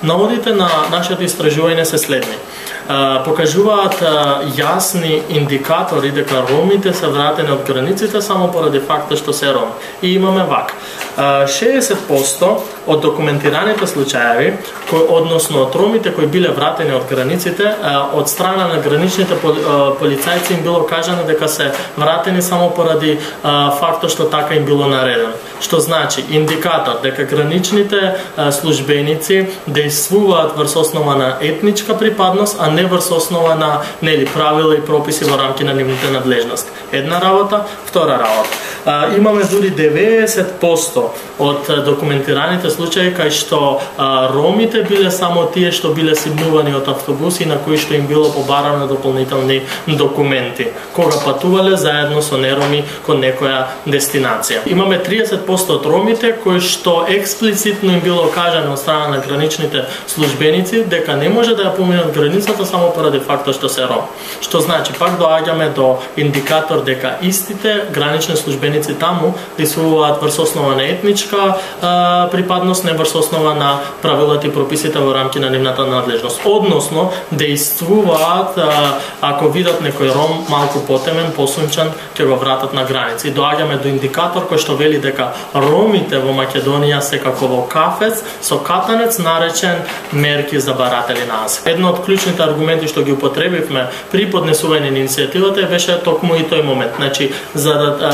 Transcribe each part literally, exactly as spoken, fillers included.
Наводите на нашето истражување се следни. Покажуваат јасни индикатори дека ромите се вратени од границите само поради факта што се роми. И имаме вака. шеесет проценти од документираните случаеви, кои, односно од ромите кои биле вратени од границите, од страна на граничните полицајци им било кажано дека се вратени само поради фактот што така им било наредено. Што значи индикатор дека граничните службеници действуваат врз основа на етничка припадност, а не врз основа на нели правила и прописи во рамки на нивните надлежности. Една работа, втора работа. Имаме дури деветдесет проценти од документираните случаи кај што а, ромите биле само тие што биле симнувани од автобуси на кои што им било побарано дополнителни документи кога патувале заедно со нероми кон некоја дестинација. Имаме триесет проценти од ромите кои што експлицитно им било кажано од страна на граничните службеници дека не може да ја поминат границата само поради фактот што се ром. Што значи пак доаѓаме до индикатор дека истите гранични службеници таму действуваат врз основа на етничка а, припадност, не врз основа на правилата и прописите во рамки на нивната надлежност. Односно, действуваат а, ако видат некој ром малку потемен, посунчан, ќе го вратат на граница. И доаѓаме до индикатор кој што вели дека ромите во Македонија се како во кафец со катанец наречен мерки за баратели на азил. Едно од клучните аргументи што ги употребивме при поднесување на иницијативата беше токму и тој момент. Значи, за да а,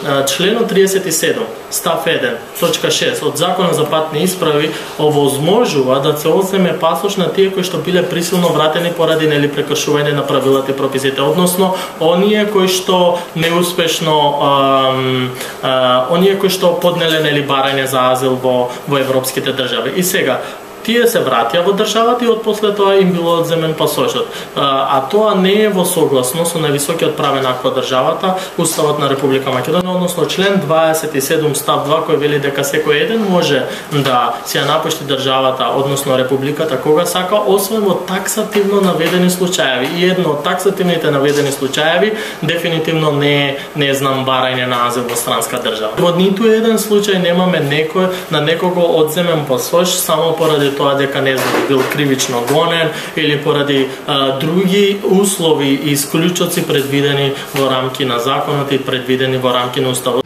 а, членот триесет и седум став еден точка шест од Законот за патни исправи овозможува да се одземе пасош на тие кои што биле присилно вратени поради нели прекршување на правилата и прописите, односно оние кои што неуспешно ам, а, оние кои што поднеле нели барање за азил во во европските држави. И сега тие се вратија во државата и отпосле тоа им било одземен пасошот. А тоа не е во согласно со највисокиот правен акт во државата, Уставот на Република Македонија, односно член дваесет и седум став два кој вели дека секој еден може да си ја напушти државата, односно републиката кога сака, освен во таксативно наведени случаеви. И едно од таксативните наведени случаеви дефинитивно не е, не знам, барање на азил во странска држава. Во ниту еден случај немаме некој на некого одземен пасош само поради тоа дека не знам бил кривично гонен или поради а, други услови и исклучоци предвидени во рамки на законот и предвидени во рамки на Уставот.